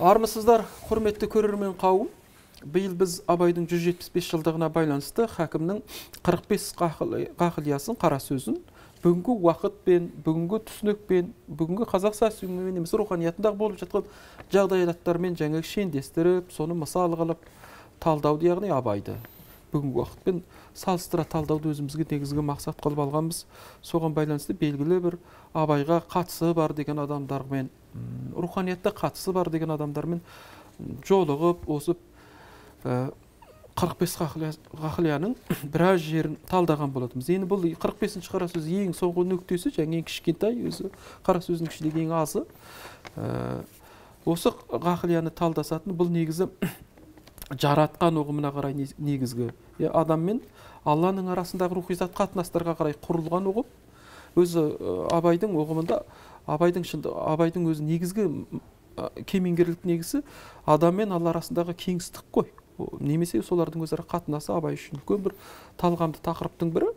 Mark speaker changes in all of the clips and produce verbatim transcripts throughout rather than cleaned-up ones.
Speaker 1: Армысыздар, құрметті көрермен қауым. Биыл біз Абайдың жүз жетпіс бес жылдығына байланысты хакімнің қырық бес ғақлиясын, қара сөзін бүгінгі уақытпен, бүгінгі түсінікпен, бүгінгі қазақ саясатымен немесе руханиятындағы болып жатқан жағдаяттармен жаңа шендестіріп, соны мысал қылып талдауды, яғни Абайды бүгінгі уақытпен салыстыра талдауды өзімізге негізгі мақсат қылып алғанбыз. Соған байланысты белгілі бір Абайға қатысы бар деген адамдармен, руханиятта қатысы бар деген адамдармен жолығып, осы қырық бес ғақлияның біраз жерін талдаған болатынбыз. Енді бұл қырық бесінші қара сөз ең соңғы нүктесі, және ең кішкентай, өзі қара сөздің ішіндегі ең азы. Осы ғақлияны талдасатын бұл негізі жаратқан ұғымына қарай негізгі. Адам мен Алланың арасындағы рухи зат қатынастарға қарай құрылған ұғым. Өзі Абайдың ұғымында, Абайдың шынды, Абайдың өзі негізгі кемеңгерлік негізі адам мен Алла арасындағы кеңістік қой. Немесе солардың өзара қатынасы Абай үшін үлкен бір талғамды тақырыптың бірі.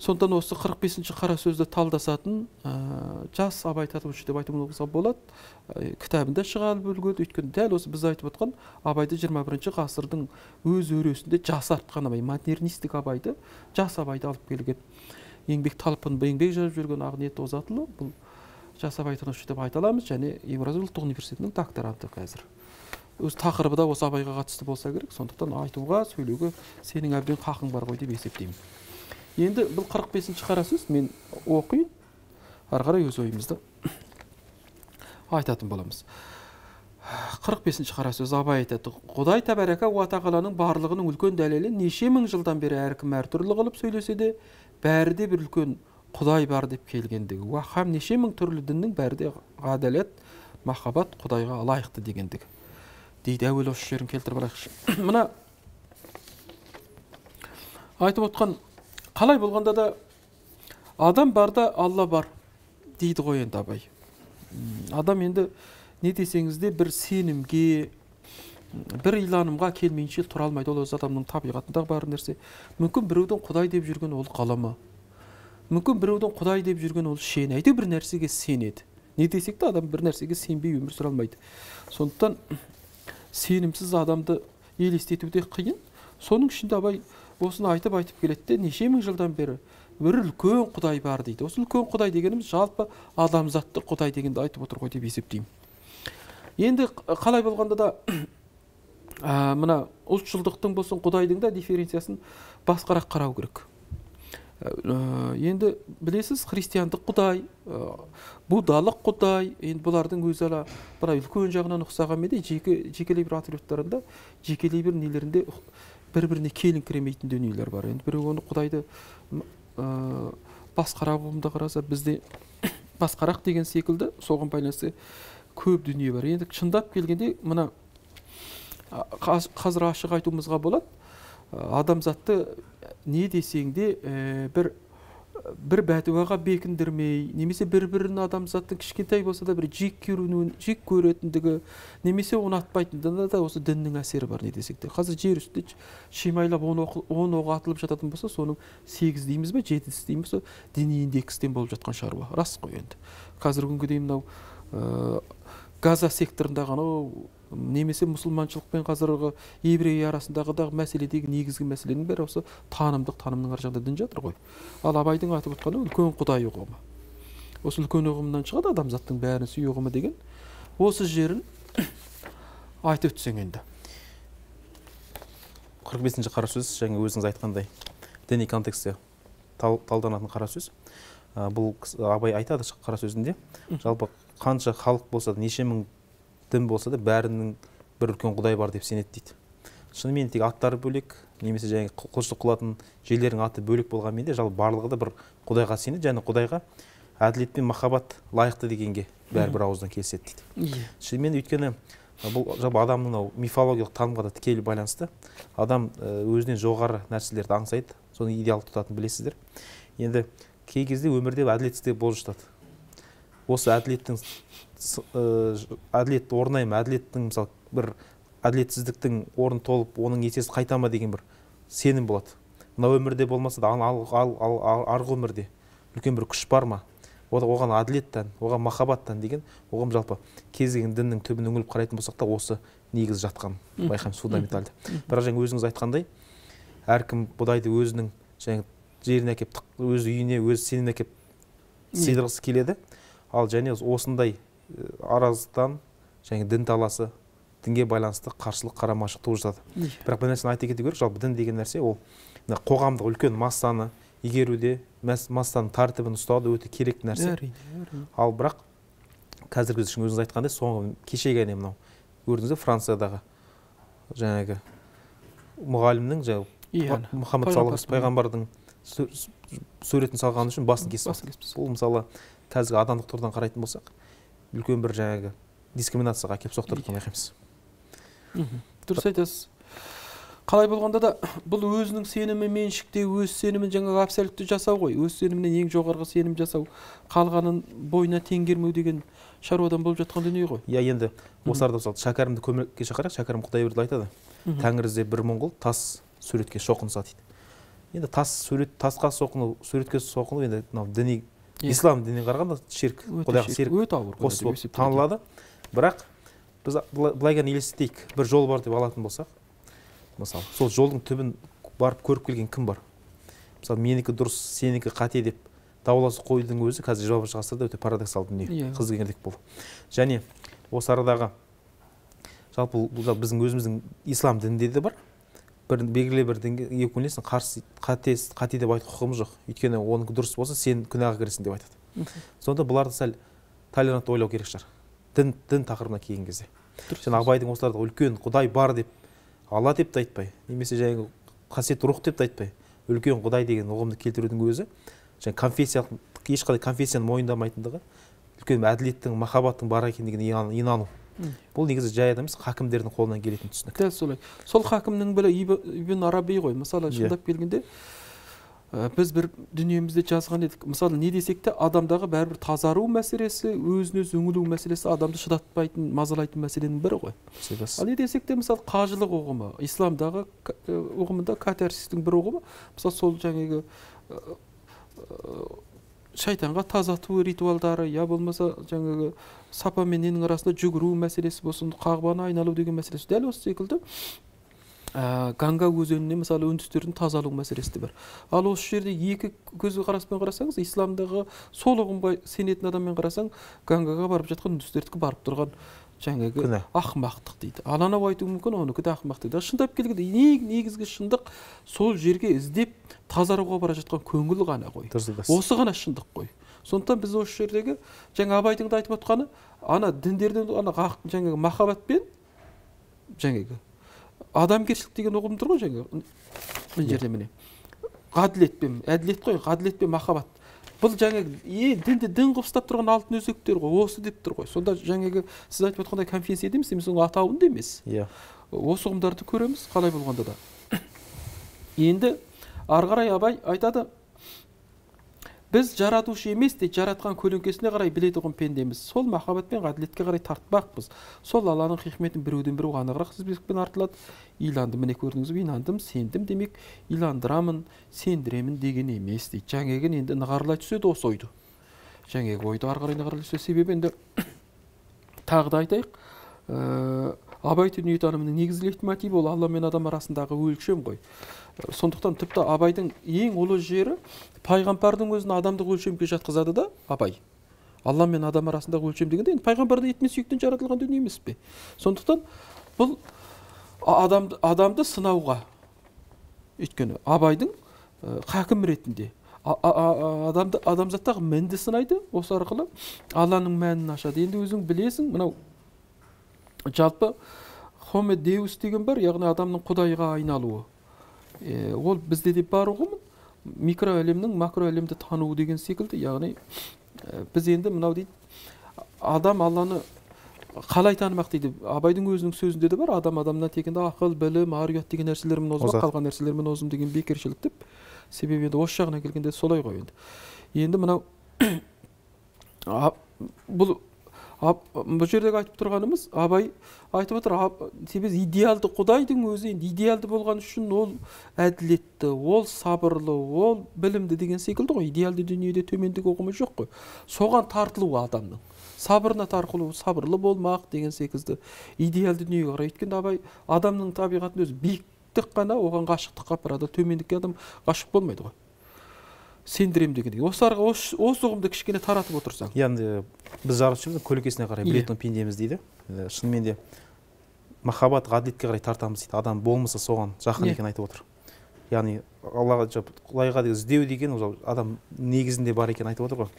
Speaker 1: Сондықтан осы қырық бесінші қара сөзді талдасатын жас Абай татушы деп айтуымызға болады. Кітабында шығарып үлгерді. Өйткені дәл осы біз айтып отқан Абайды жиырма бірінші ғасырдың өз өресінде жасартқан Абай, модернистік Абайды, жас Абайды алып келген. Еңбек талпын, еңбек жазып жүрген Ақниет Озатұлы бұл жас абайтанушы деп айта аламыз, және Еуразия ұлттық университетінің докторанты қазір. Өз тақырыбы да осы Абайға қатысты болса керек, сондықтан айтуға, сөйлеуге сенің әбден хақың бар ғой деп есептеймін. Енді бұл қырық бесінші қара сөз мен оқиын, ары қарай өз ойымызды айтатын боламыз. қырық бесінші қара сөз Абай айтады: Құдай тәбәрәка уа тағаланың барлығының үлкен дәлелі, неше мың жылдан бері әркім әртүрлі қылып сөйлесе де, бәрі де бір үлкен Құдай бар деп келгендігі. Уа һәм неше мың түрлі діннің бәрі де ғадалет, махаббат Құдайға лайықты дегендігі. Дейді, әуелі осы жерін келтіріп алайықшы. Мына айтып отқан, қалай болғанда да адам барда Алла бар дейді ғой енді Абай. Адам енді не десеңіз де бір сенімге, бір иланымға келмейінше тұра алмайды. Ол өз адамның табиғатындағы бар нәрсе. Мүмкін біреудің Құдай деп жүрген ол қаламы. Мүмкін біреудің Құдай деп жүрген ол шен. Әйтеу бір нәрсеге сенеді. Не десек те адам бір нәрсеге сенбей өмір сүре алмайды. Сондықтан сенімсіз адамды елестетуде қиын. Соның ішінде Абай осыны айтып айтып келеді де, неше мың жылдан бері бір үлкен Құдай бар дейді. Осы үлкен Құдай дегеніміз жалпы адамзатты Құдай дегенді айтып отыр ғой деп есептеймін. Енді қалай болғанда да мына ұлтшылдықтың болсын, Құдайдың да дифференциясын басқарақ қарау керек. Енді білесіз, христиандық Құдай, буддалық Құдай, енді бұлардың өзі ала бір үлкен жағынан ұқсағанмен де жекелей бір атрибуттарында, жекелей бір нелерінде бір-біріне келіңкіремейтін дүниелер бар. Енді біреу оны Құдайды басқарақ ұғымда қараса, бізде басқарақ деген секілді, соған байланысты көп дүние бар. Енді шындап келгенде мына қазір ашық айтуымызға болады. Адамзатты не десең де бір бір бәтуаға бекіндірмей, немесе бір-бірін адамзаттың кішкентай болса да бір жек көруін, жек көретіндігі, немесе ұнатпайтындығында да осы діннің әсері бар, не десек те. Қазір жер үстінде шимайлап он оқ атылып жататын болса, соның сегіз дейміз бе, жеті дейміз бе, діни индекстен болып жатқан шаруа. Рас қой енді. Қазір күнге дейін мынау Газа секторындағы немесе мұсылманшылықпен қазіргі еврей арасындағы мәселедегі негізгі мәселенің бәрі осы танымдық, танымның ар жағында дін жатыр ғой. Ал Абайдың айтып отқаны үлкен Құдай ұғымы. Осы үлкен ұғымнан шығады адамзаттың бәрін сүй ұғымы деген. Осы жерін айтып өтсең енді.
Speaker 2: қырық бесінші қара сөз, жаңа өзіңіз айтқандай діни контексте талданатын қара сөз. Бұл Абай айтады қара сөзінде, жалпы қанша халық болса да, неше мың дін болса да, бәрінің бір үлкен Құдай бар деп сенеді дейді. Шынымен тек аттары бөлек, немесе жаңа құлшылық қылатын жерлердің аты бөлек болғанмен де, жалпы барлығы да бір Құдайға сенеді, және Құдайға әділет пен махаббат лайықты дегенге бәрі бір ауыздан келіседі дейді. Шынымен өйткені бұл жалпы адамның мифологиялық танымға да тікелей байланысты. Адам өзінен жоғары нәрселерді аңсайды, соны идеал тұтатынын білесіздер. Енді кей кезде өмірде әділетсіздік болып жатады. Осы әділеттің әділетті орнайма, әділеттің мысалы бір әділетсіздіктің орын толып, оның есесі қайтама деген бір сенім болады. Мына өмірде болмаса да арғы өмірде үлкен бір күш бар ма? оған әділеттен, оған махаббаттан деген оған жалпы кез келген діннің түбін үңіліп қарайтын болсақ та осы негіз жатқан байқаймыз, фундаменталды. Бірақ жаңа өзіңіз айтқандай, әркім Құдайды өзінің жаңа жеріне әкеп, өз үйіне, өз сеніміне әкеп сыйдырғысы келеді. Ал және осындай араздықтан және дін таласы, дінге байланысты қарсылық, қарамашылық туғызады. Бірақ бір нәрсені айта кету керек, жалпы дін деген нәрсе ол қоғамдық үлкен массаны игеруде, массаның тәртібін ұстауды өте керекті нәрсе. Ал бірақ қазіргі үшін өзіңіз айтқандай, соңғы кешегі әне мынау көрдіңіз бе, Франциядағы жаңағы мұғалімнің жаңағы Мұхаммед саллаллаху пайғамбардың суретін салғаны үшін басын кесіп. Бұл мысалы қазіргі адамдық тұрғыдан қарайтын болсақ, үлкен бір жаңағы дискриминацияға әкеліп соқтырып байқаймыз.
Speaker 1: Дұрыс айтасыз. Қалай болғанда да бұл өзінің сенімі меншікте, өз сенімін жаңағы абсолютті жасау ғой, өз сенімінен ең жоғарғы сенім жасау, қалғанын бойына теңгермеу деген шаруадан болып жатқан дүние ғой.
Speaker 2: Иә, енді осы арада мысалы Шәкәрімді көмекке шақырайық. Шәкәрім Құдайберді айтады, Тәңір іздеп бір моңғол тас суретке шоқынса дейді. Енді тас сурет, тасқа соқыну, суретке соқыну енді мынау діни, ислам дініне қарағанда ширк, Құдайға серік қосып болып танылады. Бірақ біз былай ғана елестетейік, бір жол бар деп алатын болсақ, мысалы, сол жолдың түбін барып көріп келген кім бар? Мысалы, менікі дұрыс, сенікі қате деп дауласып қоюдың өзі қазір жиырмасыншы ғасырда өте парадоксалды дүние, қыз дегендік бұл. Және осы арадағы жалпы біздің өзіміздің ислам дінінде де бар. Бір белгілі бір дінге өкілесің, қарсы қате қате деп айтуға құқығымыз жоқ. Өйткені оның дұрыс болса, сен күнәға кіресің деп айтады. Сонда бұларды сәл толерантты ойлау керек шығар. Дін дін тақырыбына келген кезде. Және Абайдың осыларда үлкен Құдай бар деп, Алла деп те айтпай, немесе жаңағы қасиетті рух деп те айтпай, үлкен Құдай деген ұғымды келтірудің өзі, және конфессиялық, ешқандай конфессияны мойындамайтындығы, үлкен әділеттің, махаббаттың бар екендігіне инану. Бұл негізі жай адам емес, хакімдердің қолынан келетін түсінік.
Speaker 1: Дәл солай. Сол хакімнің бірі Ибн Араби ғой. Мысалы, шындап келгенде біз бір дүниемізде жазған едік. Мысалы, не десек те, адамдағы бәрібір тазару мәселесі, өзін-өз үңілу мәселесі адамды шыдатпайтын, мазалайтын мәселенің бірі ғой. Ал не десек те, мысалы, қажылық ұғымы, исламдағы ұғымында катарсистің бір ұғымы, мысалы, сол жаңағы шайтанға тазату ритуалдары, я болмаса жаңағы сапа мен ненің арасында жүгіру мәселесі болсын, қағбаны айналу деген мәселесі. Дәл осы секілді Ганга өзеніне мысалы үндістердің тазалау мәселесі бар. Ал осы жерде екі көзі қараспен қарасаңыз, исламдағы сол ұғымға сенетін адаммен қарасаң, Гангаға барып жатқан үндістердікі барып тұрған жаңағы ақымақтық дейді. Ал анау айтуы мүмкін, оныкі де ақымақ дейді. Шындап келгенде негізгі шындық сол жерге іздеп тазаруға бара жатқан көңіл ғана ғой. Осы ғана шындық қой. Сондықтан біз осы жердегі жаңа Абайдың да айтып отқаны, ана діндерден ана жаңағы махаббатпен жаңағы адамгершілік деген ұғым тұр ғой жаңағы мына жерде міне. Ғаділетпен, әділет қой, ғаділетпен махаббат. Бұл жаңағы е дінді дін қылып ұстап тұрған алтын өзектер ғой, осы деп тұр ғой. Сонда жаңағы сіз айтып отқандай конфессия емес, емес оның атауында емес. Иә. Осы ұғымдарды көреміз, қалай болғанда да. Енді ары қарай Абай айтады, біз жаратушы емес те жаратқан көлеңкесіне қарай білетұғын пендеміз. Сол махаббат пен ғаділетке қарай тартпақпыз. Сол Алланың хикметін біреуден бірі анығырақ тізбекпен артылады. Иландым, міне көрдіңіз бе, инандым, сендім демек, иландырамын, сендіремін деген емес дейді. Жаңағы енді нығарлай түседі осы ойды. Жаңағы ойды ары қарай нығарлай түседі. Себебі енді тағы да айтайық, Абай дүниетанымының негізгі лейтмотиві ол Алла мен адам арасындағы өлшем ғой. Сондықтан тіпті Абайдың ең ұлы жері пайғамбардың өзін адамдық өлшемге жатқызады да Абай. Алла мен адам арасындағы өлшем дегенде енді пайғамбар да ет мен сүйектен жаратылған дүние емес пе? Сондықтан бұл адамды, адамды сынауға, өйткені Абайдың хакім ретінде адамды адамзаттағы мінді сынайды, осы арқылы Алланың мәнін ашады. Енді өзің білесің, мынау жалпы Хоме Деус деген бар, яғни адамның Құдайға айналуы. Е, ол бізде де бар ұғым, микро әлемнің макро әлемді тануы деген секілді. Яғни ә, біз енді мынау дейді, адам Алланы қалай танымақ дейді. Абайдың өзінің сөзінде де бар, адам адамнан тегінде ақыл, білім, ар-ұят деген нәрселермен озып, қалған нәрселермен озым деген бекершілік деп. Себебі енді осы жағына келгенде солай ғой енді. Енді мынау бұл бұл жердегі айтып тұрғанымыз, абай айтып отыр, себебі идеалды Құдайдың өзі, енді идеалды болған үшін ол әділетті, ол сабырлы, ол білімді деген секілді ғой. Идеалды дүниеде төмендік ұғымы жоқ қой. Соған тартылу адамның. Сабырына тартылу, сабырлы болмақ деген секілді идеалды дүниеге қарай. Өйткені абай адамның табиғатын өзі биіктік қана оған ғашықтыққа апарады. Төмендікке адам ғашық болмайды ғой. Сендірем дегендей. Осы осы ұғымды кішкене таратып отырсаң.
Speaker 2: Яғни біз жаратушымыздың көлеңкесіне қарай білетін пендеміз дейді. Шынымен де махаббат, ғаділетке қарай тартамыз дейді. Адам болмаса соған жақын екенін айтып отыр. Яғни Аллаға, Құдайға деген іздеу деген адам негізінде бар екенін айтып отыр ғой.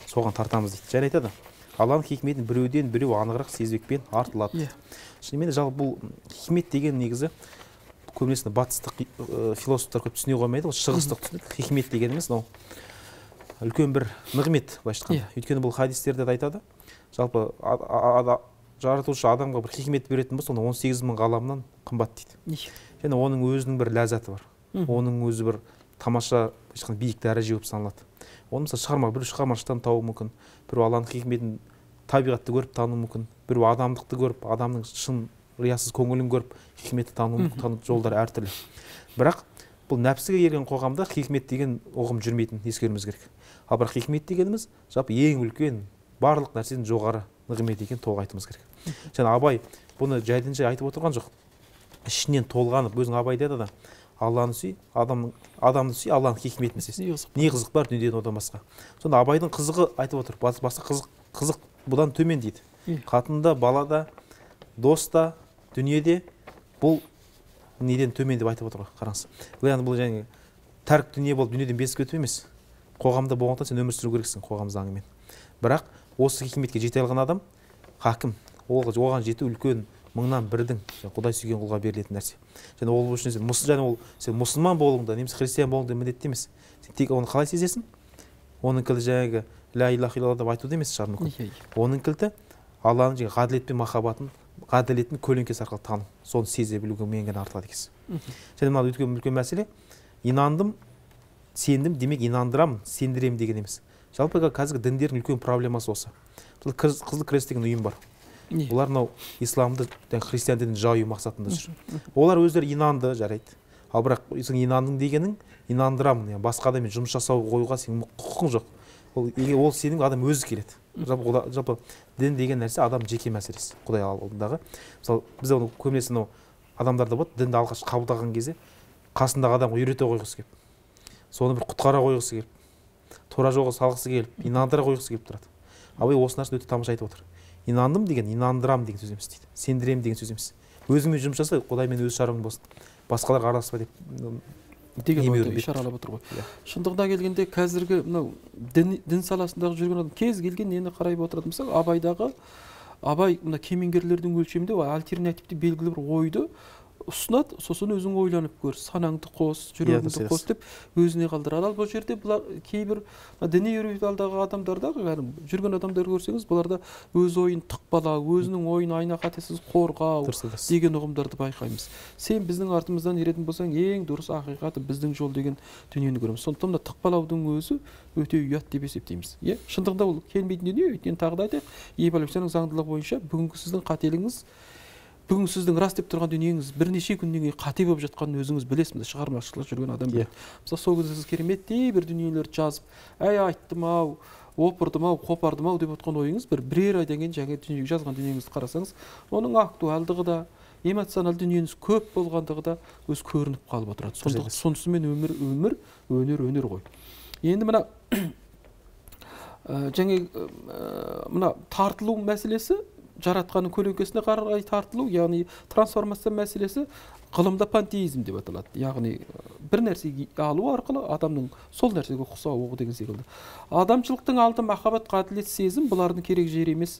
Speaker 2: Соған тартамыз дейді. Және айтады, Алланың хикметін біреуден біреу анығырақ сезбекпен артылады. Шынымен де жалпы бұл хикмет деген негізі көбінесе батыстық философтар көп түсіне қоймайды, шығыстық түсінік. Хикмет дегеніміз мынау үлкен бір нығмет, былайша айтқанда. Өйткені бұл хадистерде айтады, жалпы жаратушы адамға бір хикмет беретін болса, он сегіз мың ғаламнан қымбат дейді. Және оның өзінің бір ләззаты бар. Оның өзі бір тамаша, биік дәреже болып саналады. Оны мысалы шығарма, біреу шығармашылықтан табуы мүмкін, біреу Алланың хикметін табиғатты көріп тану мүмкін, біреу адамдықты көріп, адамның шын риясыз көңілін көріп, хикметті тану жолдары әртүрлі. Бірақ бұл нәпсіге ерген қоғамда хикмет деген ұғым жүрмейтін ескеруіміз керек. Ал бірақ хикмет дегеніміз жалпы ең үлкен, барлық нәрседен жоғары нығмет екенін толық айтуымыз керек. Және абай бұны жайдан жай айтып отырған жоқ. Ішінен толғанып, өзің абай деді да, Алланы сүй, адамның адамды сүй, Алланың хикметін сүй. Не қызық бар дүниеден одан басқа. Сонда абайдың қызығы айтып отыр. Басқа қызық, қызық бұдан төмен дейді. Қатында, балада, доста, дүниеде бұл неден төмен деп айтып отыр ғой, қараңыз. Яғни бұл жаңағы тәрк дүние болып дүниеден безіп кету емес. Қоғамда болғандықтан сен өмір сүру керексің қоғам заңымен. Бірақ осы хикметке жете алған адам хакім. Оған жету үлкен мыңнан бірдің Құдай сүйген құлға берілетін нәрсе. Және ол үшін сен және ол сен мұсылман болуыңда, немесе христиан болуыңда міндетті емес. Сен тек оны қалай сезесің? Оның кілті жаңағы ля илаха илlallah деп айтуды емес шығар мүмкін. Оның кілті Алланың жаңағы ғаділет пен махаббатын, ғаділеттің көлеңкесі арқылы тану, соны сезе білуге менен артылады екенсіз. Және мына үлкен үлкен мәселе, инандым, сендім, демек инандырамын, сендіремін деген емес. Жалпы қазіргі діндердің үлкен проблемасы осы. Қызыл крест деген ұйым бар. Олар мынау исламды, христиан дінін жаю мақсатында жүр. Олар өздері инанды, жарайды. Ал бірақ сен инандың дегенің, инандырамын, басқа адаммен жұмыс жасау қоюға сенің құқың жоқ. Ол ол сенің адам өзі келеді. Жалпы жалпы дін деген нәрсе адам жеке мәселесі, Құдай алдындағы. Мысалы, біз оны көбінесе мынау адамдарда болады, дінді алғаш қабылдаған кезде қасындағы адамға үйрете қойғысы келіп, соны бір құтқара қойғысы келіп, тура жолға салғысы келіп, инандыра қойғысы келіп тұрады. Абай осы нәрсені өте тамаша айтып отыр. Инандым деген, инандырам деген сөз емес дейді. Сендірем деген сөз емес. Өзіңмен жұмыс жаса, Құдаймен өз шаруаң болсын. Басқаларға араласпа деп
Speaker 1: деген ойды ишаралап отыр ғой. Шындығына келгенде қазіргі мынау дін саласындағы жүрген адам кез келген нені қарай отырады. Мысалы, Абайдағы Абай мына кемеңгерлердің өлшемінде альтернативті белгілі бір ойды ұсынады, сосын өзің ойланып көр, санаңды қос, жүрегіңді қос деп өзіне қалдырады. Ал бұл жерде бұлар кейбір діни үрейалдағы адамдарда, жүрген адамдар көрсеңіз, бұларда өз ойын тықпалау, өзінің ойын айна қатесіз қорғау деген ұғымдарды байқаймыз. Сен біздің артымыздан еретін болсаң, ең дұрыс ақиқаты біздің жол деген дүниені көреміз. Сондықтан да тықпалаудың өзі өте ұят деп есептейміз. Е, шындығында ол келмейтін дүние, өйткені тағы да айтайық, эволюцияның заңдылығы бойынша бүгінгі сіздің қателігіңіз, бүгін сіздің рас деп тұрған дүниеңіз бірнеше күннен кейін қате болып жатқанын өзіңіз білесіз, шығармашылық жүрген адам біледі. Мысалы, сол кезде сіз кереметтей бір дүниелерді жазып, әй айттым ау, опырдым ау, қопардым ау деп отқан ойыңыз бір бірер айдан кейін жаңа дүниеге жазған дүниеңізді қарасаңыз, оның актуалдығы да, эмоционал дүниеңіз көп болғандығы да өз көрініп қалып отырады. Сондықтан сонысымен өмір өмір, өнер өнер ғой. Енді мына жаңа мына тартылу мәселесі, жаратқанның көлеңкесіне қарай тартылу, яғни трансформация мәселесі ғылымда пантеизм деп аталады. Яғни бір нәрсеге алу арқылы адамның сол нәрсеге ұқсауы деген секілді. Адамшылықтың алды махаббат, ғаділет, сезім, бұлардың керек жері емес,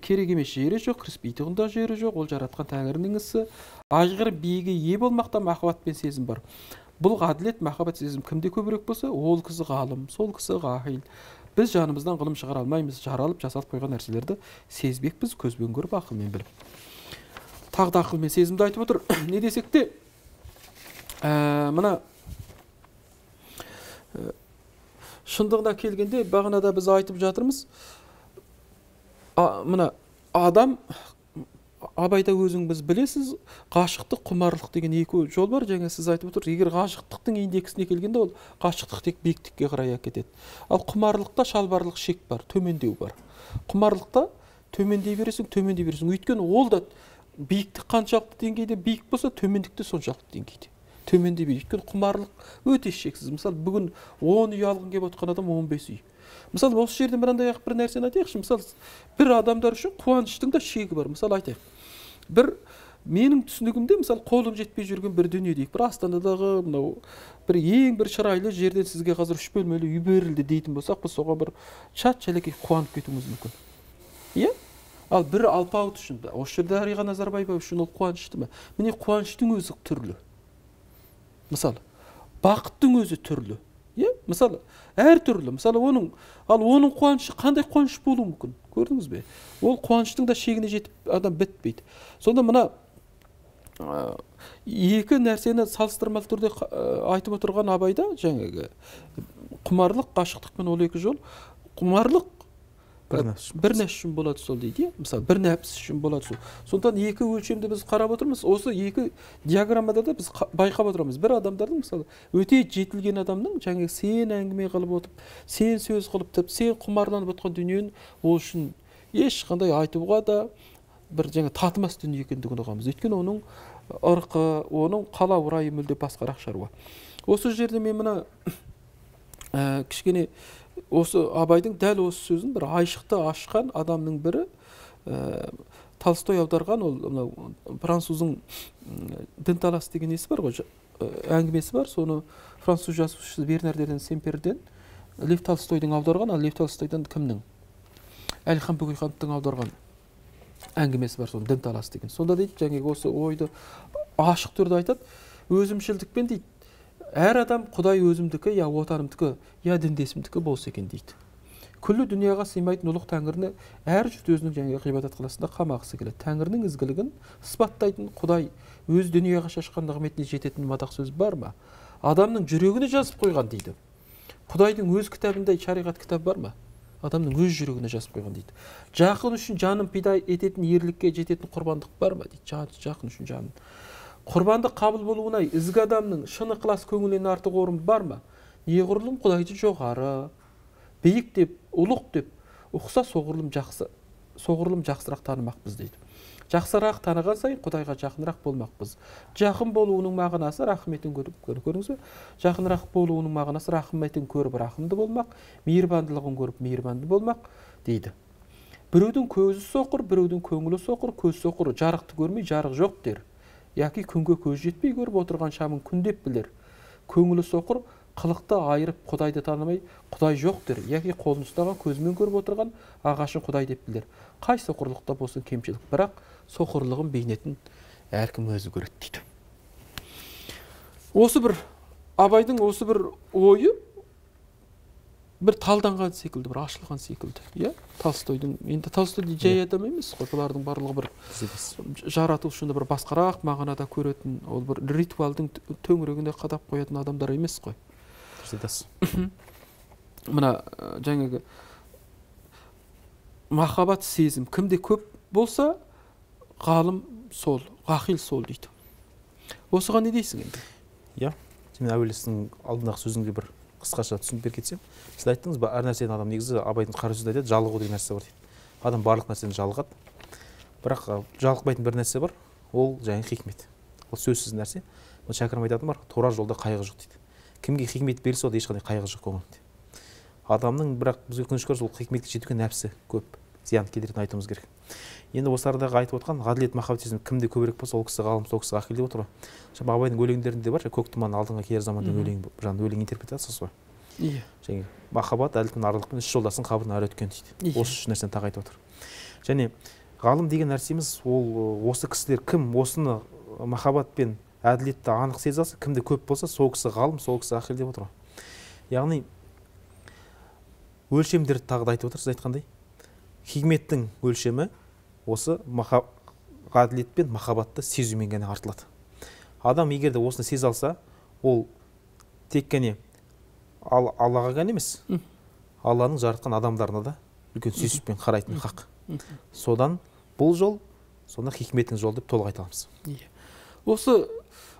Speaker 1: керек емес жері жоқ, кіріспейтін да жері жоқ, ол жаратқан Тәңірінің ісі. Ажғыр биіге ие болмақта махаббат пен сезім бар. Бұл ғаділет, махаббат, сезім кімде көбірек болса, ол кісі ғалым, сол кісі ғақил. Біз жанымыздан ғылым шығара алмаймыз, жаралып жасалып қойған нәрселерді сезбекпіз, көзбен көріп, ақылмен біліп. Тағы да ақылмен сезімді айтып отыр. Не десек те, мына шындығына келгенде, бағанада біз айтып жатырмыз, мына адам, абайда өзің біз білесіз, ғашықтық, құмарлық деген екі жол бар. Жаңа сіз айтып отырсыз, егер ғашықтықтың индексіне келгенде ол ғашықтық тек биіктікке қарай әкетеді. Ал құмарлықта шалбарлық шек бар, төмендеу бар. Құмарлықта төмендей бересің, төмендей бересің. Өйткені ол да биіктік қаншалықты деңгейде биік болса, төмендікте соншалықты деңгейде. Төмендей береді. Өйткені құмарлық өте шексіз. Мысалы, бүгін он үй алғың келіп отқан адам он бес үй. Мысалы, осы жерде мынандай бір нәрсені айтайықшы. Мысалы, бір адамдар үшін қуаныштың да шегі бар. Мысалы, айтайық. Бір менің түсінігімде, мысалы, қолым жетпей жүрген бір дүние дейік. Бір Астанадағы мынау бір ең бір шырайлы жерден сізге қазір үш бөлмелі үй берілді дейтін болсақ, біз соған бір шат шәлекей қуанып кетуіміз мүмкін. Иә? Ал бір алпауыт үшін, осы жерде Дариға Назарбаева үшін ол қуанышты ма? Міне, қуаныштың өзі түрлі. Мысалы, бақыттың өзі түрлі. Иә? Мысалы, әр түрлі. Мысалы, оның, ал оның қуанышы қандай қуаныш болуы мүмкін? Көрдіңіз бе? Ол қуаныштың да шегіне жетіп адам бітпейді. Сонда мына екі нәрсені салыстырмалы түрде айтып отырған абайда, жаңағы құмарлық, ғашықтықпен ол екі жол. Құмарлық бір нәпсі үшін болады сол дейді. Мысалы, бір нәпсі үшін болады сол. Сондықтан екі өлшемді біз қарап отырмыз. Осы екі диаграммада да біз байқап отырамыз. Бір адамдардың, мысалы, өте жетілген адамның, жаңағы сен әңгіме қылып отып, сен сөз қылып, сен құмарланып отқан дүниені ол үшін ешқандай айтуға да бір жаңа татымас дүние екендігін ұғамыз. Өйткені оның ырқы, оның қалау райы мүлде басқарақ шаруа. Осы жерде мен мына кішкене осы абайдың дәл осы сөзін бір айшықты ашқан адамның бірі Толстой аударған, ол француздың Дінталас деген несі бар ғой, әңгімесі бар. Соны француз жазушысы Бернарден Семперден Лев Толстойдың аударған, ал Лев Толстойдан кімнің? Әлихан Бөкейхановтың аударған әңгімесі бар, соны Дінталас деген. Сонда дейді, жаңағы осы ойды ашық түрде айтады, өзімшілдікпен дейді, әр адам Құдай өзімдікі, я отанымдікі, я діндесімдікі болса екен дейді. Күллі дүнияға сыймайтын ұлық Тәңіріні әр жұрт өзінің жаңағы ғибадат қаласында қамағысы келеді. Тәңірінің ізгілігін сыпаттайтын Құдай өз дүнияға шашқан нығметіне жететін мадақ сөз бар ма? Адамның жүрегіне жазып қойған дейді. Құдайдың өз кітабында шариғат кітап бар ма? Адамның өз жүрегіне жазып қойған дейді. Жақын үшін жанын пида ететін, ерлікке жететін құрбандық бар ма дейді. Жақын үшін жанын. Құрбандық қабыл болуына ізгі адамның шын ықылас көңілінен артық орын бар ма? Неғұрлым Құдайды жоғары, биік деп, ұлық деп ұқса, соғұрлым жақсы, соғұрлым жақсырақ танымақпыз дейді. Жақсырақ таныған сайын Құдайға жақынырақ болмақпыз. Жақын болуының мағынасы рахметін көріп, көріңіз бе? Жақынырақ болуының мағынасы рахметін көріп рахымды болмақ, мейірбандылығын көріп мейірбанды болмақ дейді. Біреудің көзі соқыр, біреудің көңілі соқыр, көз соқыр, жарықты көрмей жарық жоқ дер. Яки күнге көз жетпей көріп отырған шамын күн деп білер. Көңілі соқыр, қылықты айырып Құдайды танымай, Құдай жоқ дер. Яки қолын ұстаған, көзімен көріп отырған ағашын Құдай деп білер. Қай соқырлықта болсын кемшілік, бірақ соқырлығын бейнетін әркім өзі көреді дейді. Осы бір абайдың осы бір ойы бір талданған секілді, бір ашылған секілді. Иә? Толстойдың, енді Толстой жай адам емес қой, бұлардың барлығы бір жаратушыны бір басқарақ мағынада көретін, ол бір ритуалдың төңірегіне қадап қоятын адамдар емес қой. Мына жаңағы махаббат сезім кімде көп болса, ғалым сол, ғақил сол дейді. Осыған не дейсің енді?
Speaker 2: Иә, мен әуелесінің алдындағы сөзіңде бір қысқаша түсініп беріп кетсем, сіз айттыңыз ба, әр нәрседен адам негізі абайдың қара сөзінде айтады, жалығу деген нәрсе бар дейді. Адам барлық нәрседен жалығады. Бірақ жалықпайтын бір нәрсе бар, ол жаңағы хикмет. Ол сөзсіз нәрсе. Ол шәкәрім айтатын бар, тура жолда қайғы жоқ дейді. Кімге хикмет берілсе, онда ешқандай қайғы жоқ көңілінде. Адамның бірақ бізге өкінішке орай сол хикметке жетуге нәпсі көп, зиян келтіретінін айтуымыз керек. Енді осы арадағы айтып отқан ғаділет, махаббат сезімі кімде көбірек болса, ол кісі ғалым, сол кісі ғақил деп отыр ғой. Жаңағы абайдың өлеңдерінде бар, көк тұман алдыңға келер заман деген өлең, жаңағы өлең интерпретациясы ғой.
Speaker 1: Иә.
Speaker 2: Және махаббат, әділет пен арлықпен үш жолдасын қабырына ары өткен дейді. Осы үш нәрсені тағы айтып отыр. Және ғалым деген нәрсеміз, ол осы кісілер кім осыны махаббат пен әділетті анық сезе алса, кімде көп болса, сол кісі ғалым, сол кісі ғақил деп отыр ғой. Яғни өлшемдерді тағы да айтып отыр, сіз айтқандай. Хикметтің өлшемі осы ғаділет пен махаббатты сезумен ғана артылады. Адам егер де осыны сезе алса, ол тек қана Аллаға ғана емес, Алланың жаратқан адамдарына да үлкен сүйіспеншілікпен қарайтын хақ. содан бұл жол, сонда хикметтің жолы деп толық айта аламыз.
Speaker 1: Иә. Осы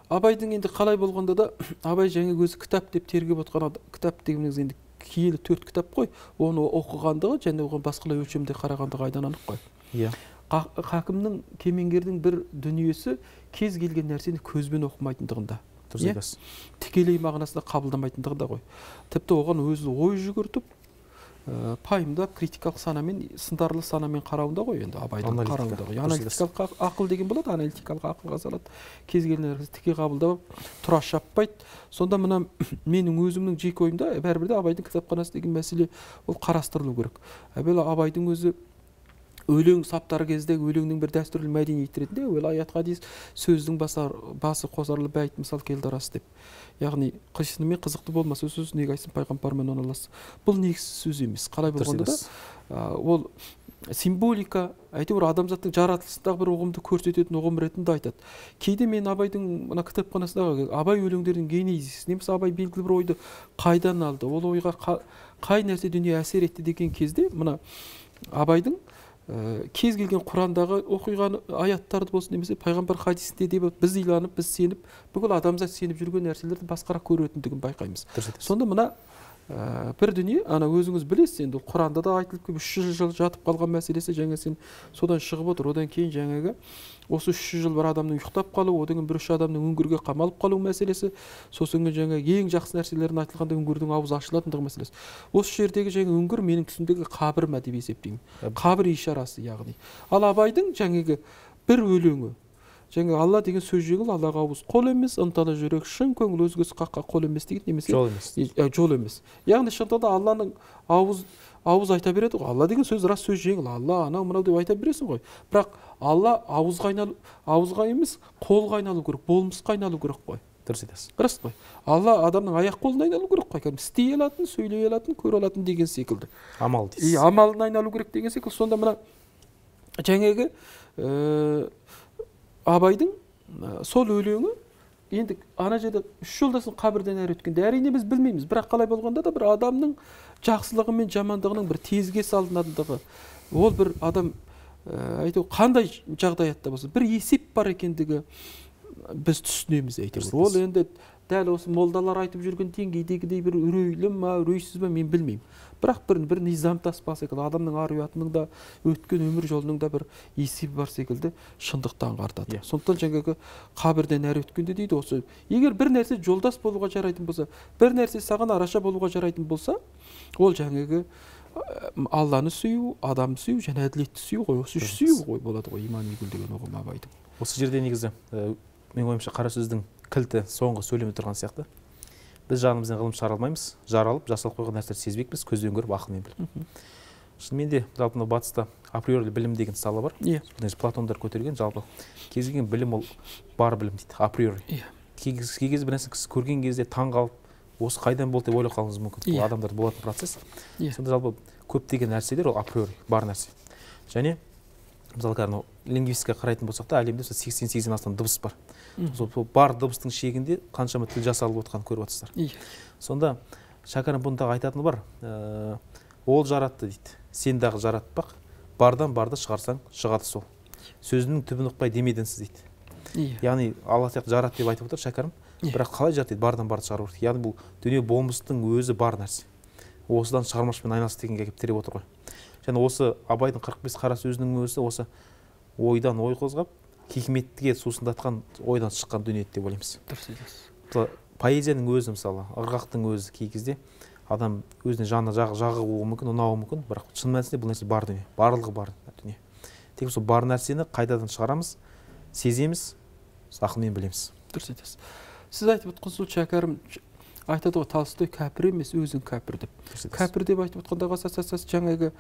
Speaker 1: абайдың енді қалай болғанда да абай жаңа өзі кітап деп тергеп отқан кітап дегеніміз енді киелі төрт кітап қой, оны оқығандығы және оған басқалай өлшемде қарағандығы айдан анық қой.
Speaker 2: Иә.
Speaker 1: Хакімнің, кемеңгердің бір дүниесі кез келген нәрсені көзбен оқымайтындығында.
Speaker 2: Дұрыс.
Speaker 1: Тікелей мағынасында қабылдамайтындығында ғой. Тіпті оған өзі ой жүгіртіп, пайымдап, критикалық санамен, сындарлы санамен қарауында ғой енді абайдың қарауында ғой. Аналитикалық ақыл деген болады, аналитикалық ақылға салады. Кез келген нәрсені тіке қабылдап, тұра шаппайды. Сонда мына менің өзімнің жеке ойымда бәрібір де абайдың кітапханасы деген мәселе ол қарастырылу керек. Әуелі абайдың өзі өлең саптары кезде өлеңнің бір дәстүрлі мәдениет ретінде өлі аят хадис сөздің басар, басы қосарлы бәйт мысал келді арасы деп. Яғни қисынымен қызықты болмаса сөз неге айтсын пайғамбармен оналасы. Бұл негізсіз сөз емес. Қалай болғанда да ол символика, әйтеуір адамзаттың жаратылысындағы бір ұғымды көрсететін ұғым ретінде айтады. Кейде мен абайдың мына кітапханасындағы абай өлеңдерінің генезисі, немесе абай белгілі бір ойды қайдан алды, ол ойға қай нәрсе дүние әсер етті деген кезде мына абайдың кез келген Құрандағы оқиған аяттарды болсын немесе пайғамбар хадисінде деп біз иланып, біз сеніп, бүкіл адамзат сеніп жүрген нәрселерді басқарақ көретіндігін байқаймыз. Сонда мына бір дүние, ана өзіңіз білесіз, енді Құранда да айтылып келіп үш жүз жыл жатып қалған мәселесі, жаңа сен содан шығып отыр. Одан кейін жаңағы осы үш жүз жыл бір адамның ұйықтап қалуы, одан кейін бір үш адамның үңгірге қамалып қалу мәселесі, сосын жаңа ең жақсы нәрселерін айтылғанда үңгірдің аузы ашылатындығы мәселесі. Осы жердегі жаңа үңгір менің түсіндегі қабір ма деп есептеймін. Қабір ишарасы яғни. Ал абайдың жаңағы бір өлеңі, жаңа Алла деген сөз жеңіл, Аллаға ауыз қол емес, ынталы жүрек шын көңіл өзгесі қаққа қол емес деген немесе
Speaker 2: жол емес.
Speaker 1: Жол емес. Яғни шынында Алланың ауыз ауыз айта береді ғой. Алла деген сөз рас сөз жеңіл. Алла анау мынау деп айта бересің ғой. Бірақ Алла ауызға айналу, ауызға емес, қолға айналу керек, болмысқа айналу керек қой.
Speaker 2: Дұрыс айтасыз.
Speaker 1: Рас қой. Алла адамның аяқ қолына айналу керек қой. Кәдімгі істей алатын, сөйлей алатын, көре алатын деген секілді.
Speaker 2: Амал дейсіз.
Speaker 1: И амалына айналу керек деген секілді. Сонда мына жаңағы абайдың сол өлеңі енді ана жерде үш жолдасын қабірден әрі өткенде әрине біз білмейміз, бірақ қалай болғанда да бір адамның жақсылығы мен жамандығының бір тезге салынатындығы, ол бір адам әйтеуір қандай жағдаятта болса бір есеп бар екендігі біз түсінеміз әйтеуір. Ол енді дәл осы молдалар айтып жүрген деңгейдегідей бір үрейлі ма, үрейсіз ба мен білмеймін. Бірақ бір бір низам таспа секілді адамның ар ұятының да өткен өмір жолының да бір есебі бар секілді шындықты аңғартады. Сондықтан жаңағы қабірден әрі өткенде дейді осы, егер бір нәрсе жолдас болуға жарайтын болса, бір нәрсе саған араша болуға жарайтын болса, ол жаңағы Алланы сүю, адамды сүю және әділетті сүю ғой. Осы үш сүю ғой болады ғой иман игіл деген ұғым абайдың.
Speaker 2: Осы жерде негізі мен ойымша қара сөздің кілті соңғы сөйлеме тұрған сияқты. Біз жанымыздан ғылым шығара алмаймыз, жаралып, жасалып қойған нәрселерді сезбекпіз, көзбен көріп, ақылмен біліп. Шынымен де жалпы мына батыста априори білім деген сала бар. Платондар көтерген жалпы кез келген білім ол бар білім дейді, априори. Кей кезде бір нәрсе көрген кезде таң қалып, осы қайдан болды деп ойлап қалуыңыз мүмкін. Бұл адамдарда болатын процесс. Сонда жалпы көптеген нәрселер ол априори бар нәрсе. Және мысалы кәдімгі лингвистикаға қарайтын болсақ та әлемде сексен сегізден астам дыбыс бар. Сол бар дыбыстың шегінде қаншама тіл жасалып отқанын көріп отырсыздар. Сонда Шәкәрім бұндағы айтатыны бар. Ол жаратты дейді. Сен дағы жаратпақ, бардан барды шығарсаң шығады сол. Сөзінің түбін ұқпай демедіңсіз дейді. Яғни Алла сияқты жарат деп айтып отыр Шәкәрім. Бірақ қалай жарат дейді, бардан барды шығару керек. Яғни бұл дүние болмыстың өзі бар нәрсе. Осыдан шығармашпен айналыс дегенге келіп тіреп отыр ғой. Және осы Абайдың қырық бес қара сөзінің өзі осы ойдан ой қозғап, хикметке сусындатқан ойдан шыққан дүние деп ойлаймыз. Дұрыс. Поэзияның өзі мысалы, ырғақтың өзі кей кезде адам өзіне жаны жағуы мүмкін, ұнауы мүмкін, бірақ шын мәнісінде бұл нәрсе бар дүние, барлығы бар дүние. Тек сол бар нәрсені қайдадан шығарамыз, сеземіз, ақылмен білеміз.
Speaker 1: Дұрыс айтасыз. Сіз айтып отқан сол Шәкәрім айтады ғой, Толстой кәпір емес, өзің кәпір деп. Кәпір деп айтып отқандағы асас жаңағы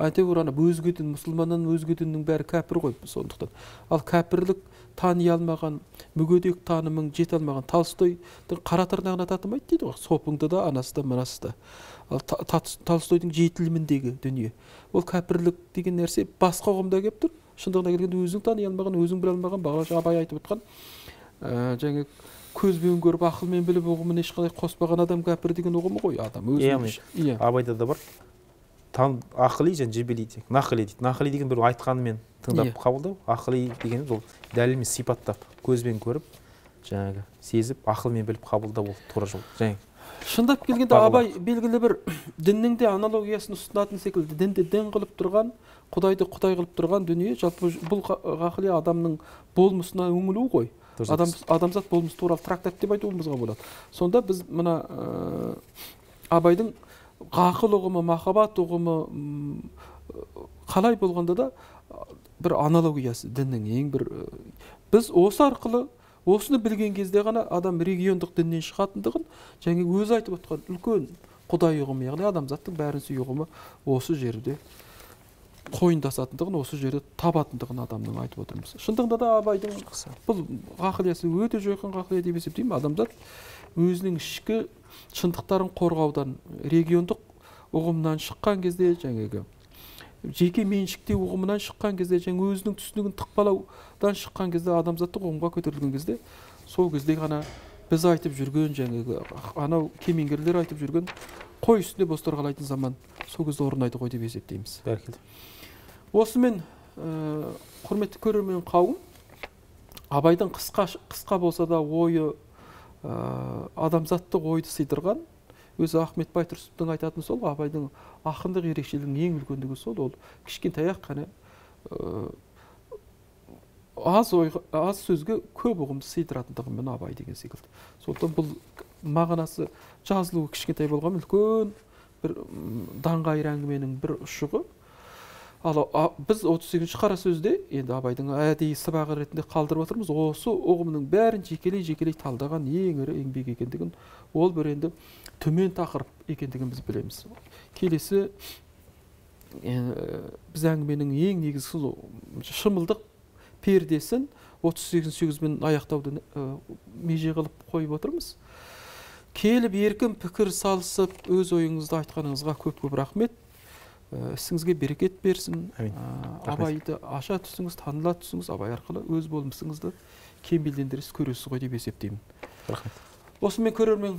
Speaker 1: әйтеуір ана өзге дін, мұсылманнан өзге діннің бәрі кәпір ғой сондықтан. Ал кәпірлік тани алмаған, мүгедек танымың жете алмаған Толстойдың қара тырнағына татымайды дейді ғой. Сопыңды да, анасы да, мынасы да. Ал Толстойдың жетіліміндегі дүние. Ол кәпірлік деген нәрсе басқа ұғымда келіп тұр. Шындығына келгенде өзің тани алмаған, өзің біле алмаған, бағана Абай айтып отқан жаңағы көзбен көріп ақылмен біліп ұғымын ешқандай қоспаған адам кәпір деген ұғымы ғой адам өзі.
Speaker 2: Абайда да бар. ақыли және жебели дейді. Нақыли дейді. Нақыли деген бір айтқанымен тыңдап қабылдау, ақыли дегеніміз ол дәлелмен сипаттап, көзбен көріп, жаңағы сезіп, ақылмен біліп қабылдау ол тура жол. Жаңағы
Speaker 1: шындап келгенде абай белгілі бір діннің де аналогиясын ұсынатын секілді, дінді дін қылып тұрған, Құдайды Құдай қылып тұрған дүние, жалпы бұл ғақли адамның болмысына үңілу ғой. Адам, адамзат болмысы туралы трактат деп айтуымызға болады. Сонда біз мына ә, абайдың ғақыл ұғымы, махаббат ұғымы қалай болғанда да бір аналогиясы діннің ең бір, біз осы арқылы осыны білген кезде ғана адам региондық діннен шығатындығын және өзі айтып отқан үлкен Құдай ұғымы, яғни адамзаттың бәрін сүю ұғымы осы жерде қойындасатындығын, осы жерде табатындығын адамның айтып отырмыз. Шындығында да абайдың бұл ғақлиясы өте жойқын ғақлия деп есептеймін. Адамзат өзінің ішкі шындықтарын қорғаудан, региондық ұғымнан шыққан кезде, жаңағы жеке меншіктеу ұғымынан шыққан кезде, және өзінің түсінігін тықпалаудан шыққан кезде, адамзаттық ұғымға көтерілген кезде, сол кезде ғана біз айтып жүрген, жаңағы анау кемеңгерлер айтып жүрген қой үстінде бозтор қалайтын заман сол кезде орнайды ғой деп есептейміз.
Speaker 2: Бәрекелді.
Speaker 1: Осымен ә, құрметті көрермен қауым, абайдың қысқа, қысқа болса да ойы ә, адамзаттық ойды сыйдырған, өзі Ахмет Байтұрсыновтың айтатын сол, абайдың ақындық ерекшелігінің ең үлкендігі сол, ол кішкентай ақ қана ә, аз, ойға, аз сөзге көп ұғымды сыйдыратындығымен абай деген секілді. Сондықтан бұл мағынасы жазылуы кішкентай болған үлкен бір даңғайыр әңгіменің бір ұшығы. Ал біз отыз сегізінші қара сөзде енді абайдың әдейі сыбағы ретінде қалдырып отырмыз. Осы ұғымның бәрін жекелей-жекелей талдаған ең ірі еңбек екендігін, ол бір енді төмен тақырып екендігін біз білеміз. Келесі біз әңгіменің ең негізгі шымылдық пердесін отыз сегізінші сөзбен аяқтауды меже қылып қойып отырмыз. Келіп еркін пікір салысып, өз ойыңызды айтқаныңызға көп-көп рахмет. Ісіңізге берекет берсін. Абайды аша түсіңіз, таныла түсіңіз, абай арқылы өз болмысыңызды кемелдендіріс көресіз ғой деп есептеймін.
Speaker 2: Рахмет.
Speaker 1: Осымен көрермен